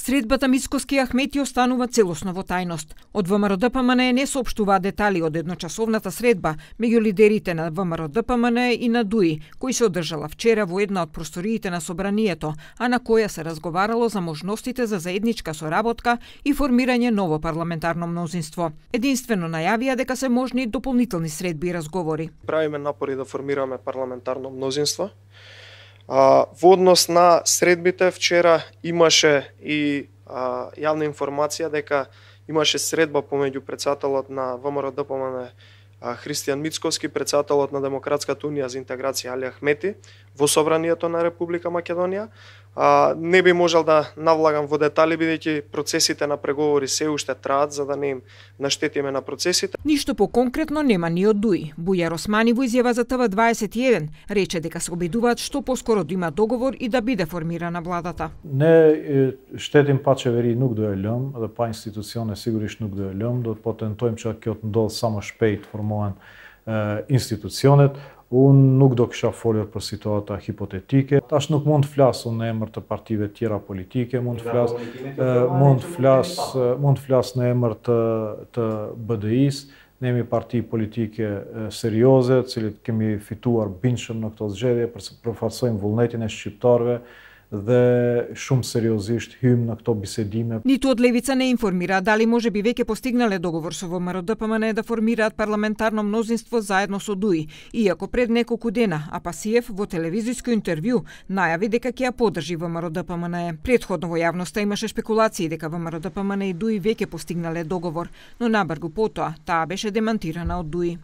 Средбата Мицкоски и Ахмети останува целосно во тајност. Од ВМРО-ДПМН не соопштуваа детали од едночасовната средба меѓу лидерите на ВМРО-ДПМН и на ДУИ, кој се одржала вчера во една од просториите на Собранието, а на која се разговарало за можностите за заедничка соработка и формирање ново парламентарно мнозинство. Единствено најавија дека се можни дополнителни средби и разговори. Правиме напори да формираме парламентарно мнозинство. Во однос на средбите, вчера имаше и јавна информација дека имаше средба помеѓу председателот на ВМРО-ДПМН Христијан Мицкоски, председателот на Демократската унија за интеграција Али Ахмети во Собранието на Република Македонија. Не би можел да навлагам во детали, бидејќи процесите на преговори се уште траат, за да не им наштетиме на процесите. Ништо поконкретно нема ни од ДУИ. Бујар Османи во изјава за ТВ21 рече дека се обидуваат што поскоро да има договор и да биде формирана владата. Ne shtetim pa qeveri nuk do e lëm dhe pa institucione sigurisht nuk do e lëm, do të potentojmë që kjo të ndodhë sa më shpejt formohen institucionet. Unë nuk do kisha folur për situata hipotetike. Tash nuk mund të flas unë në emër të partive tjera politike, mund të flas në emër të BDI-s. Ne jemi parti politike serioze, të cilët kemi fituar bindshëm në këto zgjedhje, përfaqësojmë vullnetin e shqiptarëve dhe shumë seriozisht hymë në këto bisedime. Ниту од левица не информира дали може би веќе постигнале договор со ВМРО-ДПМН да формираат парламентарно мнозинство заедно со ДУИ, иако пред неколку дена Апасиев во телевизиско интервју најави дека ќе ја поддржи ВМРО-ДПМН. Претходно во јавноста имаше шпекулации дека ВМРО-ДПМН и ДУИ веќе постигнале договор, но набрзо потоа таа беше демантирана од ДУИ.